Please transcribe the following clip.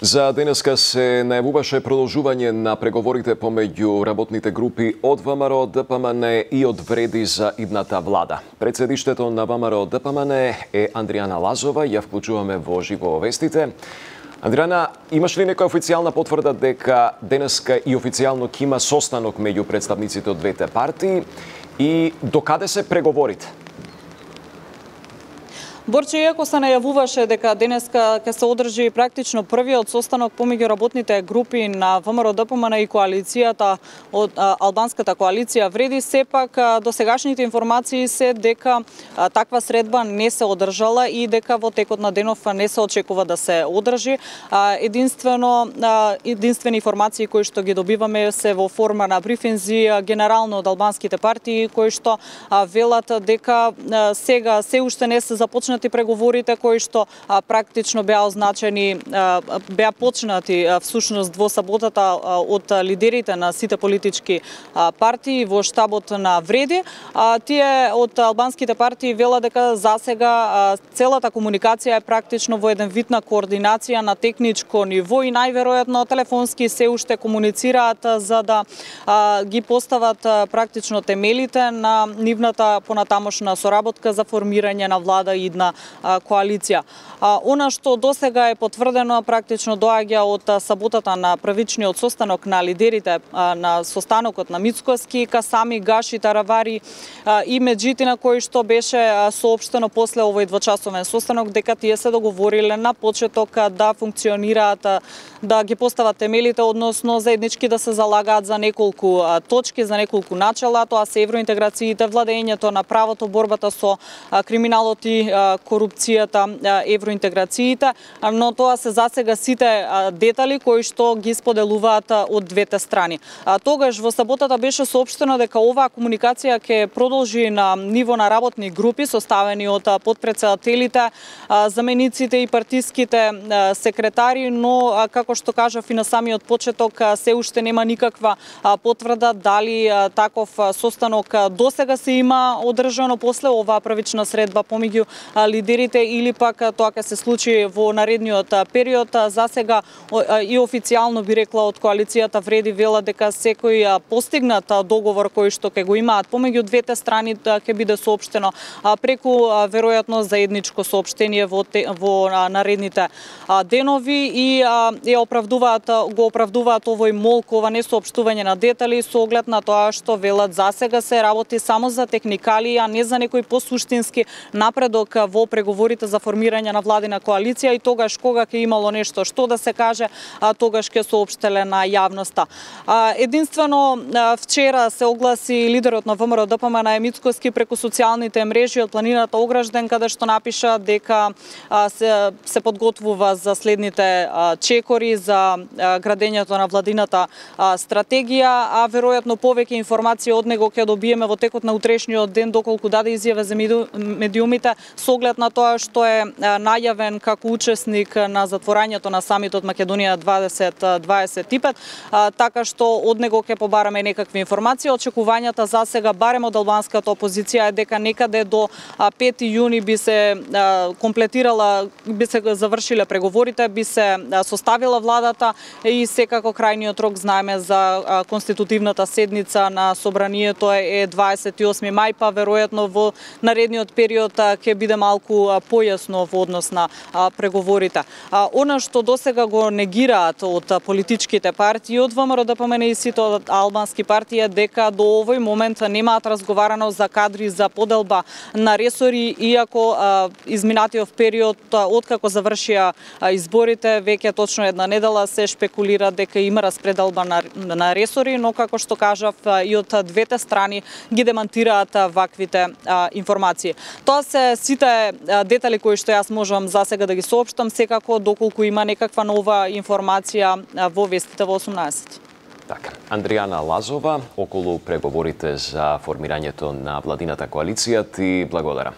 За денеска се најавуваше продолжување на преговорите помеѓу работните групи од ВМРО, ДПМН и од Вреди за идната влада. Председиштето на ВМРО ДПМН е Андријана Лазова, ја вклучуваме во живо вестите. Андријана, имаш ли некоја официјална потврда дека денеска и официјално ќе има состанок меѓу представниците од двете партии и докаде се преговорите? Борче, иако се најавуваше дека денеска ќе се одржи практично првиот состанок помеѓу работните групи на ВМРО ДПМН и коалицијата од албанската коалиција Вреди, сепак досегашните информации се дека таква средба не се одржала и дека во текот на денов не се очекува да се одржи. Единствени информации кои што ги добиваме се во форма на брифинзи генерално од албанските партии кои што велат дека сега се уште не се започнати преговорите кои што практично беа означени, беа почнати всушност во саботата од лидерите на сите политички партии во штабот на Вреди. Тие од албанските партии велат дека засега целата комуникација е практично во еден вид на координација на техничко ниво и најверојатно телефонски се уште комуницираат за да ги постават практично темелите на нивната понатамошна соработка за формирање на влада и на коалиција. Она што досега е потврдено практично доаѓа од саботата на првичниот состанок на лидерите на состанокот на Мицкоски, Касами, Гаши, Таравари и Меджитина, кој што беше соопштено после овој двочасовен состанок дека тие се договориле на почеток да функционираат, да ги постават темелите, односно заеднички да се залагаат за неколку точки, за неколку начала, тоа се евроинтеграциите, владењето на правото, борбата со криминалот и корупцијата, евроинтеграциите, но тоа се засега сите детали кои што ги споделуваат од двете страни. Тогаш во саботата беше соопштено дека оваа комуникација ќе продолжи на ниво на работни групи составени од потпредседателите, замениците и партиските секретари, но како што кажав и на самиот почеток, се уште нема никаква потврда дали таков состанок досега се има одржано после оваа првична средба помеѓу лидерите или пак тоа ќе се случи во наредниот период. Засега и официјално би рекла од коалицијата Вреди вела дека секој постигнат договор кој што ќе го имаат помеѓу двете страни ќе биде соопштено преку веројатно заедничко соопштение во наредните денови и го оправдуваат овој молк, ова несоопштување на детали со оглед на тоа што велат засега се работи само за техникали, а не за некој посуштински напредок во преговорите за формирање на владина коалиција и тогаш кога ќе имало нешто што да се каже, тогаш ќе соопштеле на јавноста. Единствено вчера се огласи лидерот на ВМРО ДПМН Мицкоски преку социјалните мрежи од планината Огражден, каде што напиша дека се подготвува за следните чекори за градењето на владината стратегија, а веројатно повеќе информации од него ќе добиеме во текот на утрешниот ден доколку даде изјава за медиумите со оглед на тоа што е најавен како учесник на затворањето на самитот Македонија 2025, така што од него ќе побараме некакви информации. Очекувањата за сега барем од албанската опозиција е дека некаде до 5 јуни би се комплетирала, би се завршиле преговорите, би се составила владата и секако крајниот рок знаеме за конститутивната седница на собранието е 28 мај, па веројатно во наредниот период ќе биде малку појасно во однос на преговорите. Она што досега го негираат од политичките партии, од ВМРО ДПМН и сите албански партии е дека до овој момент немаат разговарано за кадри за поделба на ресори, иако изминатиот период откако завршија изборите, веќе точно една недела се шпекулира дека има распределба на ресори, но како што кажав и од двете страни ги демантираат ваквите информации. Тоа се сите детали кои што јас можам засега да ги соопштам, секако доколку има некаква нова информација во вестите во 18. Така, Андријана Лазова околу преговорите за формирањето на владината коалиција, ти благодарам.